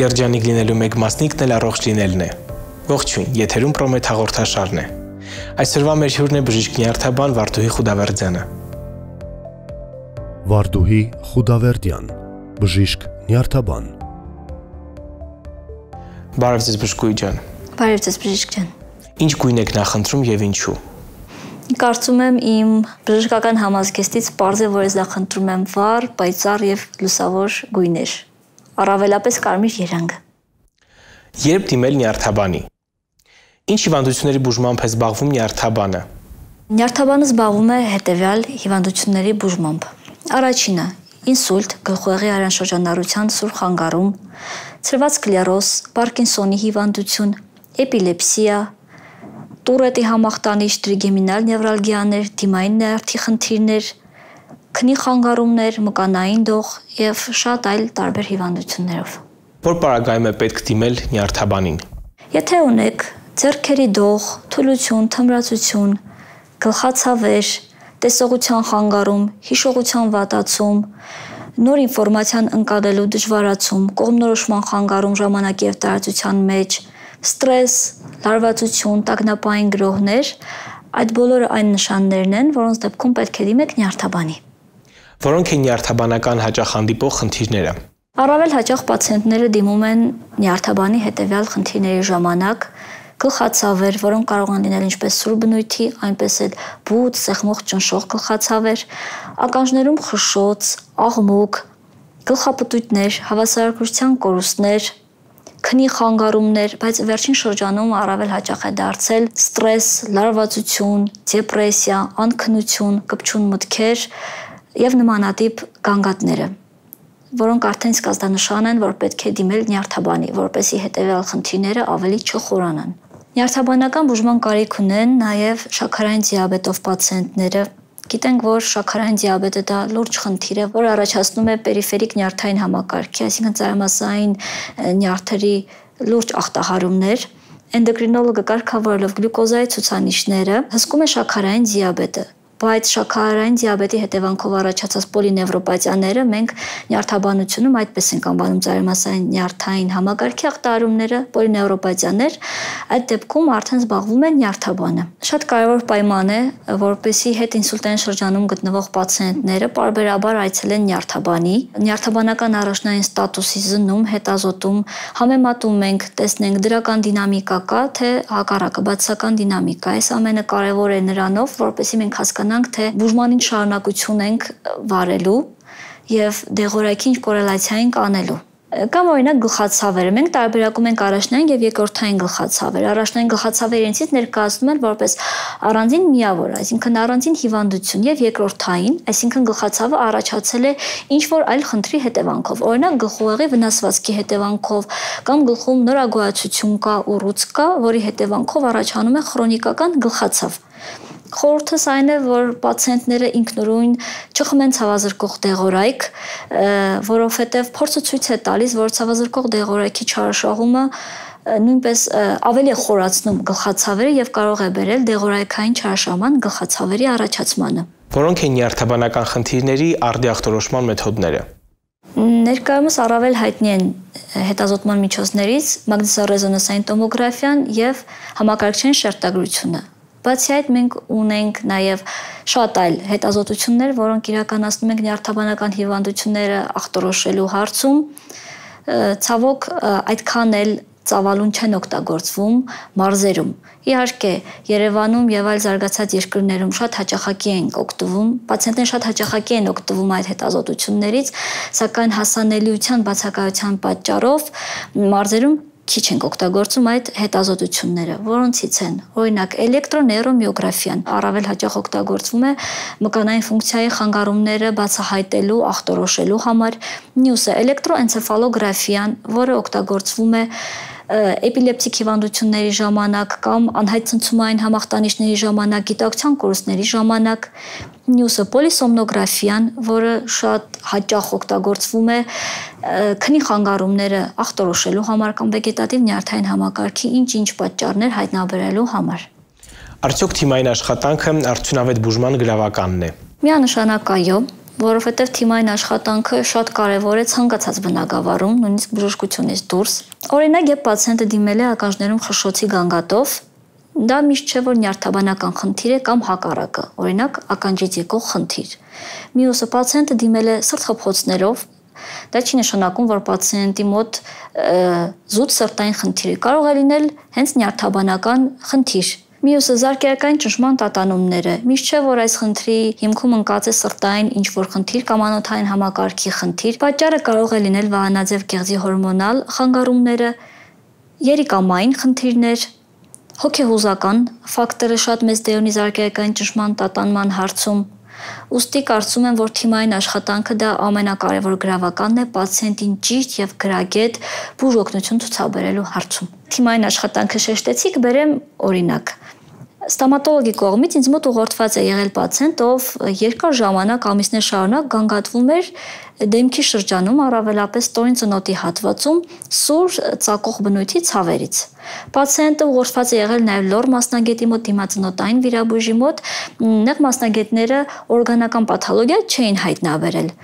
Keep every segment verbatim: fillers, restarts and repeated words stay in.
Երջանիկ լինելու մեկ մասնիկն էլ առողջ լինելն է։ Ողջույն, եթերում Պրոմեթ հաղորդաշարն է։ Այսօրվա մեր հյուրն է բժիշկ նյարդաբան Վարդուհի Խուդավերդյանը։ Վարդուհի Խուդավերդյան, բժիշկ նյարդաբան։ Բարև ձեզ բժշկուհի ջան։ Բարև ձեզ բժիշկ ջան։ Ինչ գույն եք նախընտրում եւ ինչու։ Կարծում եմ իմ բժշկական համազգեստից պարզ է, որ ես նախընտրում եմ վառ, պայծառ եւ լուսավոր գույներ։ Առավելապես կարմիր երանգը։ Երբ դիմել նյարդաբանի։ Ինչ հիվանդությունների բուժմամբ է զբաղվում նյարդաբանը։ Նյարդաբանը զբաղվում է հետեւյալ հիվանդությունների բուժմամբ։ Առաջինը՝ ինսուլտ, գլխուեղի արանշրջանառության սուր խանգարում, ցրված սկլերոզ, Պարկինսոնի հիվանդություն, էպիլեպսիա, Տուրետի համախտանիշ, տրիգեմինալ նևրալգիաներ, դիմային նյարդի խնդիրներ, քնի խանգարումներ, մկանային դող եւ շատ այլ տարբեր հիվանդություններով։ Որ պարագայում է պետք դիմել նյարդաբանին։ Եթե ունեք ձեռքերի դող, թուլություն, թմրացություն, գլխացավեր, տեսողության խանգարում, հիշողության վատացում, նոր ինֆորմացիան ընկալելու դժվարացում, կողմնորոշման խանգարում ժամանակի եւ տարածության մեջ, ստրես, լարվածություն, տագնապային գրոհներ, այդ բոլորը այն նշաններն են, որոնց դեպքում պետք է դիմեք նյարդաբանի։ Որոնք են նյարդաբանական հաճախ հանդիպող խնդիրները։ Առավել հաճախ պացիենտները դիմում են նյարդաբանի հետևյալ խնդիրների ժամանակ, գլխացավեր, որոնք կարող են լինել ինչպես սուր բնույթի, այնպես էլ բութ, սեղմող ճնշող գլխացավեր, ականջներում խշշոց, աղմուկ, գլխապտույտներ, հավասարակրթության կորուստներ, քնի խանգարումներ, բայց վերջին շրջանում առավել հաճախ է դարձել ստրես, լարվածություն, դեպրեսիա, անքնություն, կպչուն մտքեր եւ նմանատիպ գանգատները, որոնք արդեն սկզբնանշան են, որ պետք է դիմել նյարդաբանի, որպեսզի հետեւյալ խնդիրները ավելի չխորանան։ Նյարդաբանական բուժման կարիք ունեն նաեւ շաքարային դիաբետով պացիենտները։ Գիտենք, որ շաքարային դիաբետը դա լուրջ խնդիր է, որ առաջացնում է պերիֆերիկ նյարդային համակարգի, այսինքն ծայրամասային նյարդերի լուրջ ախտահարումներ։ Էնդոկրինոլոգը կարգավորելով գլյուկոզայի ցուցանիշները հսկում է շաքարային դիաբետը, բայց շաքարային դիաբետի հետևանքով առաջացած պոլինևրոպաթիաները մենք նյարդաբանությունում այդպես ենք անվանում ծայրամասային նյարդային համակարգի ախտահարումները, պոլինևրոպաթիաներ, այդ դեպքում արդեն զբաղվում է նյարդաբանը։ Շատ կարևոր պայման է, որպեսզի հետինսուլտային շրջանում գտնվող պացիենտները պարբերաբար այցելեն նյարդաբանի, նյարդաբանական առաջնային ստատուսի զննում, հետազոտում, համեմատում ենք, տեսնենք դրական դինամիկա կա, թե հակառակը բացասական դինամիկա։ Այս ամենը կարևոր է նրանով, որպեսզի մենք հասկանանք, թե բուժման ինչ շարունակություն ենք վարելու եւ դեղորայքի ինչ կորելացիա ենք անելու։ Կամ օրինակ գլխացավերը։ Մենք տարբերակում ենք առաջնային եւ երկրորդային գլխացավեր։ Առաջնային գլխացավերը իրենցից ներկայացնում են որպես առանձին միավոր, այսինքն առանձին հիվանդություն, եւ երկրորդային, այսինքն գլխացավը առաջացել է ինչ որ այլ խնդրի հետևանքով, օրինակ գլխուեղի վնասվածքի հետևանքով, կամ գլխում նորագոհացություն կա, ուռուց կա, որի հետևանքով առաջանում է քրոնիկական գլխացավ։ Խորհուրդս այն է, որ պացիենտները ինքնուրույն չխմեն ցավազրկող դեղորայք, որովհետև փորձը ցույց է տալիս, որ ցավազրկող դեղորայքի չարաշահումը նույնպես ավելի է խորացնում գլխացավերը եւ կարող է բերել դեղորայքային չարաշահման գլխացավերի առաջացմանը։ Որոնք են նյարդաբանական խնդիրների արդիախտորոշման մեթոդները։ Ներկայումս առավել հայտնի են հետազոտման միջոցներից մագնիսառեզոնանսային տոմոգրաֆիան եւ համակարգչային շերտագրությունը։ Բացի այդ մենք ունենք նաև շատ այլ հետազոտություններ, որոնք իրականացնում ենք նյարդաբանական հիվանդությունները ախտորոշելու հարցում, ցավոք այդքան էլ ծավալուն չեն օգտագործվում մարզերում։ Իհարկե, Երևանում եւ այլ զարգացած երկրներում շատ հաճախակի են օգտվում, պացիենտները շատ հաճախակի են օգտվում այդ հետազոտություններից, սակայն հասանելիության բացակայության պատճառով մարզերում քիչ ենք օգտագործում այդ հետազոտությունները, որոնցից են օրինակ էլեկտրոնեյրոմիոգրաֆիան, առավել հաճախ օգտագործվում է մկանային ֆունկցիայի խանգարումները բացահայտելու, ախտորոշելու համար, մյուսը էլեկտրոէնցեֆալոգրաֆիան, որը օգտագործվում է էպիլեպտիկ հիվանդությունների ժամանակ կամ անհայտ ցնցումային համախտանիշների ժամանակ, գիտակցության կորուստների ժամանակ, մյուսը պոլիսոմնոգրաֆիան, որը շատ հաճախ օգտագործվում է քնի խանգարումները ախտորոշելու համար կամ վեգետատիվ նյարդային համակարգի ինչ-ինչ պատճառներ հայտնաբերելու համար։ Արդյոք թիմային աշխատանքը արդյունավետ բուժման գրավականն է։ Միանշանակ այո, որովհետև թիմային աշխատանքը շատ կարևոր է ցանկացած բնագավառում, նույնիսկ բժշկությունից դուրս։ Օրինակ, երբ պացիենտը դիմել է ականջներում խշշոցի գանգատով, դա միշտ չէ, որ նյարդաբանական խնդիր է կամ հակառակը, օրինակ ականջից եկող խնդիր։ Մյուսը պացիենտը դիմել է սրտխփոցներով, դա չի նշանակում, որ պացիենտի մոտ զուտ սրտային խնդիր է, կարող է լինել հենց նյարդաբանական խնդիր։ Մյուսը զարկերակային ճնշման տատանումները, միշտ չէ, որ այս խնդրի հիմքում ընկած է սրտային ինչ-որ խնդիր կամ անոթային համակարգի խնդիր, պատճառը կարող է լինել վահանաձև կեղծի հորմոնալ խանգարումները, երիկամային խնդիրներ, հոգեհուզական ֆակտորը շատ մեծ դեր ունի զարկերակային ճնշման տատանման հարցում։ Ուստի կարծում եմ, որ թիմային աշխատանքը դա ամենակարևոր գրավականն է պացիենտին ճիշտ եւ գրագետ բուժօգնություն ցուցաբերելու հարցում։ Թիմային աշխատանքը շեշտեցի, կբերեմ օրինակ։ Ստոմատոլոգի կողմից ինձ մոտ ուղղորդված է եղել պացիենտ, ով երկար ժամանակ ամիսներ շարունակ գանգատվում էր դեմքի շրջանում, առավելապես ստորին ծնոտի հատվածում, սուր ծակող բնույթի ցավերից։ Պացիենտը ուղղորդված է եղել նաև լոր մասնագետի մոտ, դիմածնոտային վիրաբույժի մոտ, նեղ մասնագետները օրգանական պաթոլոգիա չէին հայտնաբերել։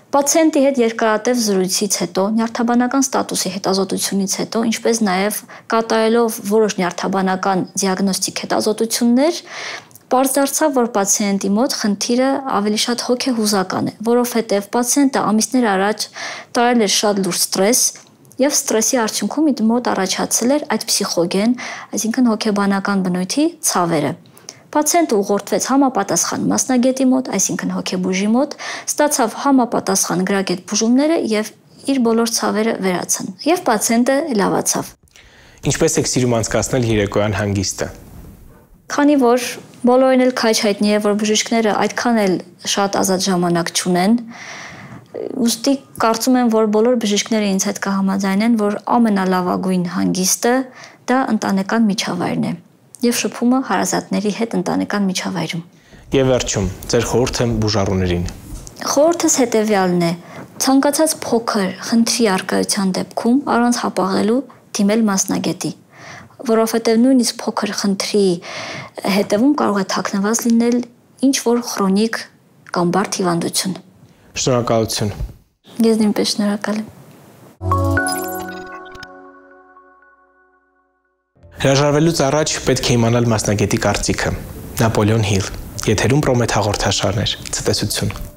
Պացիենտի հետ երկարատև զրույցից հետո, նյարդաբանական ստատուսի հետազոտությունից հետո, ինչպես նաև կատարելով որոշ նյարդաբանական դիագնոստիկ հետազոտություններ, պարզ դարձավ, որ պացիենտի մոտ խնդիրը ավելի շատ հոգեհուզական է, որովհետև պացիենտը ամիսներ առաջ տարել էր շատ լուրջ ստրես, եւ ստրեսի արդյունքում իր մոտ առաջացել էր այդ փսիխոգեն, այսինքն հոգեբանական բնույթի ցավերը։ Պացիենտը ուղղորդվեց համապատասխան մասնագետի մոտ, այսինքն հոգեբույժի մոտ, ստացավ համապատասխան գրագետ բուժումները եւ իր բոլոր ցավերը վերացան։ Եվ պացիենտը լավացավ։ Ինչպես եք սիրում անցկացնել երեկոյան հանգիստը։ Քանի որ բոլորին էլ քաջ հայտնի է, որ բժիշկները այդքան էլ շատ ազատ ժամանակ չունեն, ուստի կարծում եմ, որ բոլոր բժիշկները ինձ հետ կհամաձայնեն, որ ամենալավագույն հանգիստը դա ընտանեկան միջավայրն է։ Եվ շփումը հարազատների հետ ընտանեկան միջավայրում։ Եվ վերջում, ձեր խորհուրդը բուժառուներին։ Խորհուրդս հետևյալն է. ցանկացած փոքր խնդրի առկայության դեպքում առանց հապաղելու դիմել մասնագետի, որովհետև նույնիսկ փոքր խնդրի հետևում կարող է թաքնված լինել ինչ-որ քրոնիկ կամ բարդ հիվանդություն։ Շնորհակալություն։ Ես նույնպես շնորհակալ եմ։ Հրաժարվելուց առաջ պետք է իմանալ մասնագետի կարծիքը։ Նապոլեոն Հիլ, եթերում Պրոմեթ հաղորդաշարներ, ցտեսություն։